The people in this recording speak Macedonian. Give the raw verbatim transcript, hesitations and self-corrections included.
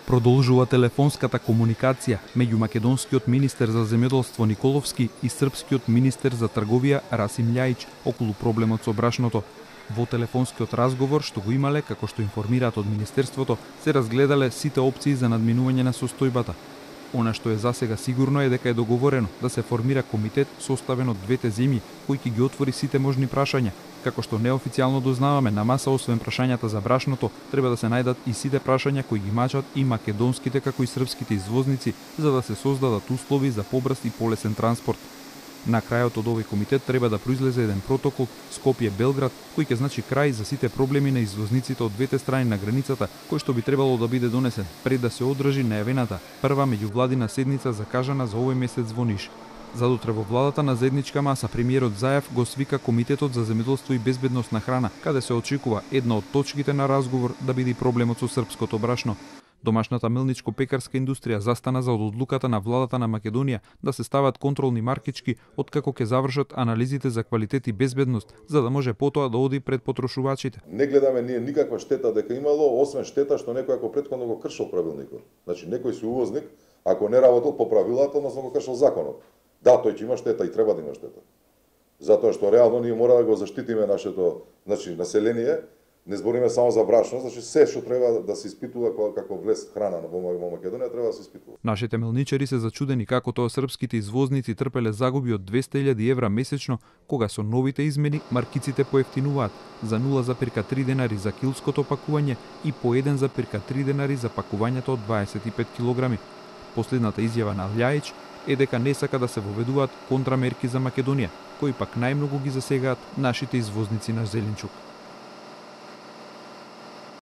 Продолжува телефонската комуникација меѓу македонскиот министер за земјоделство Николовски и српскиот министер за трговија Расим Љајич околу проблемот со брашното. Во телефонскиот разговор што го имале, како што информираат од министерството, се разгледале сите опции за надминување на состојбата. Она што е засега сигурно е дека е договорено да се формира комитет составен од двете земји кој ќе ги отвори сите можни прашања. Како што неофицијално дознаваме, на маса освен прашањата за брашното, треба да се најдат и сите прашања кои ги мачат и македонските како и српските извозници, за да се создадат услови за побрз и полесен транспорт. На крајот од овој комитет треба да произлезе еден протокол Скопје-Белград, кој ќе значи крај за сите проблеми на извозниците од двете страни на границата, кој што би требало да биде донесен пред да се одржи најавената прва меѓувладина седница закажана за овој месец во Ниш. Задутре во владата на заедничка маса премиерот Заев го свика Комитетот за земјоделство и безбедност на храна, каде се очекува една од точките на разговор да биде проблемот со српското брашно. Домашната мелничко-пекарска индустрија застана за одлуката на владата на Македонија да се стават контролни маркички откако ќе завршат анализите за квалитет и безбедност, за да може потоа да оди пред потрошувачите. Не гледаме ние никаква штета дека имало, освен штета што некој ако претходно го кршил правилникот. Значи некој си увозник, ако не работел по правилата, односно го кршил законот. Да, тој ќе има штета и треба да има штета. Затоа што реално ние мора да го заштитиме нашето, значи население. Не збориме само за брашно, значи се што треба да се испитува како влез храна во Македонија треба да се испитува. Нашите мелничари се зачудени како тоа српските извозници трпеле загуби од двесте илјади евра месечно, кога со новите измени маркиците поевтинуваат за нула зарез три денари за килското пакување и по еден зарез три денари за пакувањето од дваесет и пет килограми. Последната изјава на Љајич е дека не сака да се воведуваат контрамерки за Македонија, кои пак најмногу ги засегаат нашите извозници на зеленчук.